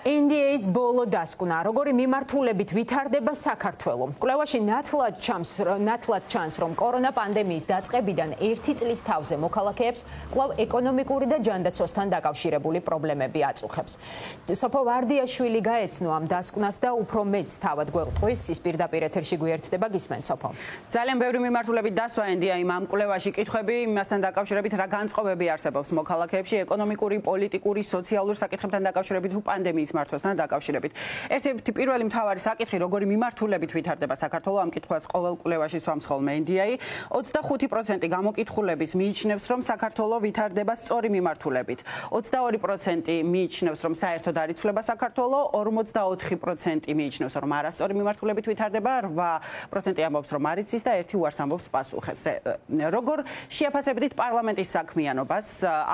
NDA-ის ბოლო დასკვნა, როგორი მიმართულებით ვითარდება საქართველო. კვლევაში ნათლად ჩანს, რომ კორონა პანდემიის დაწყებიდან 1 წლის თავზე მოქალაქეებს კვლავ ეკონომიკური და ჯანდაცვასთან დაკავშირებული პრობლემები აწუხებს. სოფო ვარდიაშვილი გაეცნო ამ დასკვნას და უფრო მეც თავად გვეყვის, ის პირდაპირ ეთერში გვერდდება, გისმენთ სოფო. ძალიან ბევრი მიმართულებით დასვა NDA-იმ ამ კვლევაში კითხვები იმასთან დაკავშირებით, რა განწყობები არსებობს მოქალაქეებში ეკონომიკური, პოლიტიკური, სოციალური საკითხებთან დაკავშირებით თუ პანდემიის მართვასთან დაკავშირებით. ერთ-ერთი პირველი მთავარი საკითხი, როგორი მიმართულებით ვითარდება საქართველო, ამ კითხვას ყოველ კვლევაში სვამს ხოლმე NDA. 25% გამოკითხულების მიიჩნევს, რომ საქართველო ვითარდება სწორი მიმართულებით. 22% მიიჩნევს, რომ საერთოდ არ იცვლება საქართველო, 44% მიიჩნევს, რომ არასწორი მიმართულებით ვითარდება, 8% ამბობს, რომ არ იცის და 1 უარს ამბობს პასუხს. როგორ შეაფასებდით პარლამენტის საქმიანობას?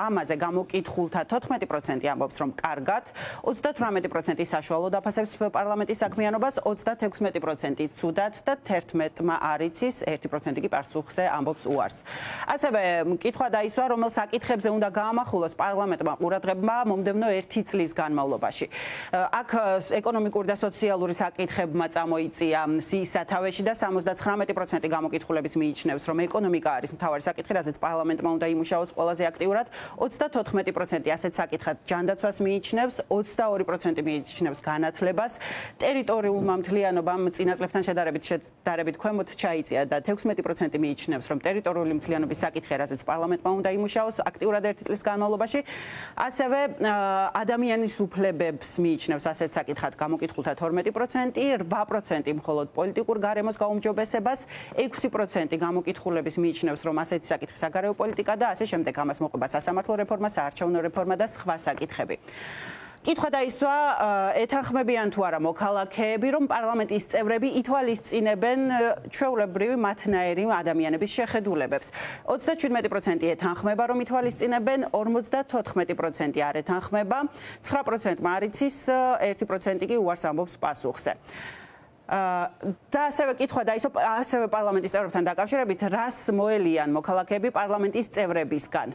ამაზე გამოკითხულთა 14% ამბობს, რომ კარგად, 38% საშუალოდ აფასებს პარლამენტის საქმიანობას, 36% ცუდად და 11-მა არ იცის, 1% კი პასუხზე ამბობს უარს. ასევე კითხვა დაისვა, რომელ საკითხებზე უნდა გაამახვილოს პარლამენტმა ყურადღება მომდევნო 1 წლის განმავლობაში. აქ ეკონომიკური და სოციალური საკითხებმა წამოიწია სიის სათავეში და 79% გამოკითხულების მიიჩნევს, რომ ეკონომიკა არის მთავარი საკითხი, რაზეც პარლამენტმა უნდა იმუშაოს ყველაზე აქტიურად, 34% ასეთ საკითხად ჯანდაცვას მიიჩნევს, 22% მიიჩნევს განათლებას, ტერიტორიულმა მთლიანობამ წინა წლებთან შედარებით ქვემოთ ჩაიწია და 16% მიიჩნევს, რომ ტერიტორიული მთლიანობის საკითხია, რაზეც პარლამენტმა უნდა იმუშაოს აქტიურად 1 წლის განმავლობაში. ასევე ადამიანის უფლებებს მიიჩნევს ასეთ საკითხად გამოკითხულთა 12%, 8% მხოლოდ პოლიტიკურ გარემოს გაუმჯობესებას, 6% გამოკითხულების მიიჩნევს, რომ ასეთი საკითხი საგარეო პოლიტიკა და ასე შემდეგ ამას მოყვება სასამართლო რეფორმა, საარჩევნო რეფორმა და სხვა საკითხები. კითხვა დაისვა, ეთანხმებიან თუ არა მოქალაქეები, რომ პარლამენტის წევრები ითვალისწინებენ ჩვეულებრივი მათნაირი ადამიანების შეხედულებებს. 37% ეთანხმება, რომ ითვალისწინებენ, 54% არ ეთანხმება, 9% არ იცის, 1% კი უარს ამბობს პასუხზე. და ასევე კითხვა დაისვა ასევე პარლამენტის წევრებთან დაკავშირებით, რას მოელიან მოქალაქეები პარლამენტის წევრებისგან.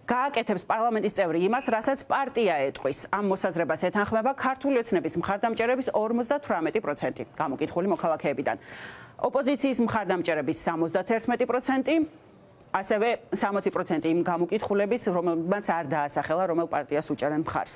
გააკეთებს პარლამენტის წევრი იმას, რასაც პარტია ეტყვის. ამ მოსაზრებას ეთანხმება ქართული ოცნების მხარდამჭერების 58% გამოკითხული მოქალაქეებიდან. ოპოზიციის მხარდამჭერების 71%, ასევე 60% იმ გამოკითხულების, რომელმაც არ დაასახელა, რომელ პარტიას უჭერენ მხარს.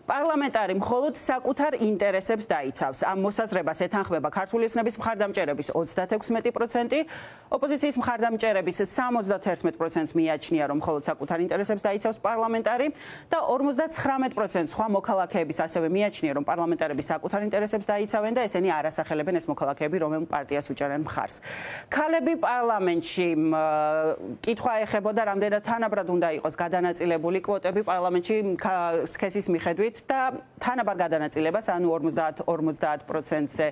პარლამენტარი მხოლოდ საკუთარ ინტერესებს დაიცავს. ამ მოსაზრებას ეთანხმება ქართული ოცნების მხარდამჭერების 36%, ოპოზიციის მხარდამჭერების 71%-ს მიაჩნია, რომ მხოლოდ საკუთარ ინტერესებს დაიცავს პარლამენტარი და 59% სხვა მოქალაქეების ასევე მიაჩნია, რომ პარლამენტარები საკუთარ ინტერესებს დაიცავენ და ესენი არ ასახელებენ ეს მოქალაქეები, რომელ პარტიას უჭერენ მხარს. ქალები პარლამენტში კითხვა ეხებოდა, რამდენად თანაბრად უნდა იყოს გადანაწილებული კვოტები პარლამენტში სქესის მიხედვით და თანაბარ გადანაწილებას, ანუ 50-50%-ზე,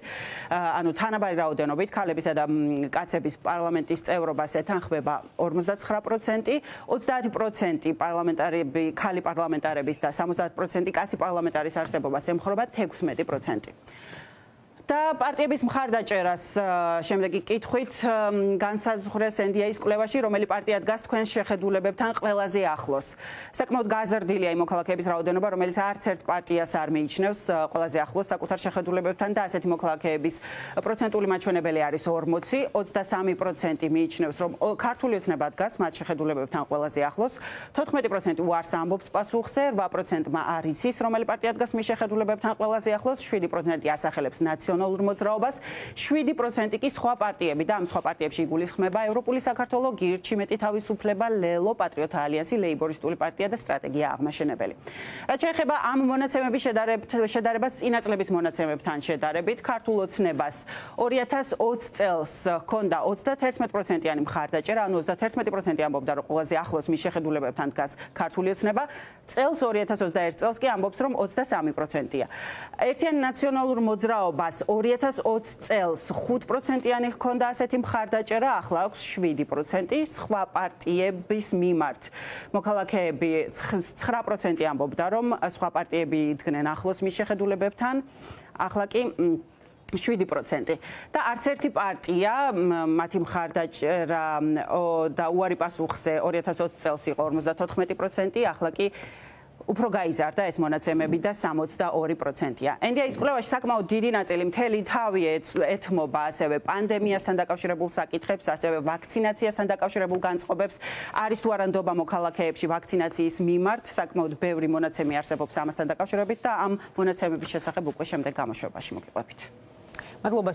ანუ თანაბარი რაოდენობით ქალებისა და კაცების პარლამენტის წევრობას ეთანხმება 59%, 30% პარლამენტარები, ქალი პარლამენტარების და 70% კაცი პარლამენტარის არსებობას ემხრობა 16%. და პარტიების მხარდაჭერას შემდეგი კითხვით განსაზღვრეს NDA-ის კვლევაში, რომელი პარტია დგას თქვენს შეხედულებებთან ყველაზე ახლოს. საკმაოდ გაზრდილია იმ მოქალაქეების რაოდენობა, რომელიც არც ერთ პარტიას არ მიიჩნევს ყველაზე ახლოს საკუთარ შეხედულებებთან და ასეთი მოქალაქეების პროცენტული მაჩვენებელი არის 40, 23% მიიჩნევს, რომ ქართული ოცნება დგას მათ შეხედულებებთან ყველაზე ახლოს, 14% უარს ამბობს პასუხზე, 8%-მა არ იცის, რომელი პარტია დგას მის შეხედულებებთან ყველაზე ახლოს, 7% ასახელებს ნაციონალურ მოძრაობას, 7% კი სხვა პარტიები და ამ სხვა პარტიებში იგულისხმება ევროპული საქართველო, გირჩი მეტი თავისუფლება, ლელო, პატრიოტთა ალიანსი, ლეიბორისტული პარტია და სტრატეგია აღმაშენებელი. რაც შეეხება ამ მონაცემების შედარებას წინა წლების მონაცემებთან შედარებით, ქართულ ოცნებას 2020 წელს ჰქონდა 31%-იანი მხარდაჭერა, ანუ 31% ამბობდა, რომ ყველაზე ახლოს მის შეხედულებებთან დგას ქართული ოცნება, წელს 2021 წელს კი ამბობს, რომ 23%-ია. ერთიან ნაციონალურ მოძრაობას 2020 წელს 5%-იანი ჰქონდა ასეთი მხარდაჭერა, ახლა აქვს 7%, სხვა პარტიების მიმართ. მოქალაქეები 9% ამბობდა, რომ სხვა პარტიები იდგნენ ახლოს მის შეხედულებებთან, ახლა კი 7% და არც ერთი პარტია მათი მხარდაჭერა და უარი პასუხზე 2020 წელს იყო 54%, ახლა კი უფრო გაიზარდა ეს მონაცემები და 62%-ია. NDI-ის კვლევაში საკმაოდ დიდი ნაწილი მთელი თავი ეთმობა ასევე პანდემიასთან დაკავშირებულ საკითხებს, ასევე ვაქცინაციასთან დაკავშირებულ განწყობებს. არის თუ არა ნდობა მოქალაქეებში ვაქცინაციის მიმართ, საკმაოდ ბევრი მონაცემი არსებობს ამასთან დაკავშირებით და ამ მონაცემების შესახებ უკვე შემდეგ გამოშვებაში მოგიყვებით. მადლობა.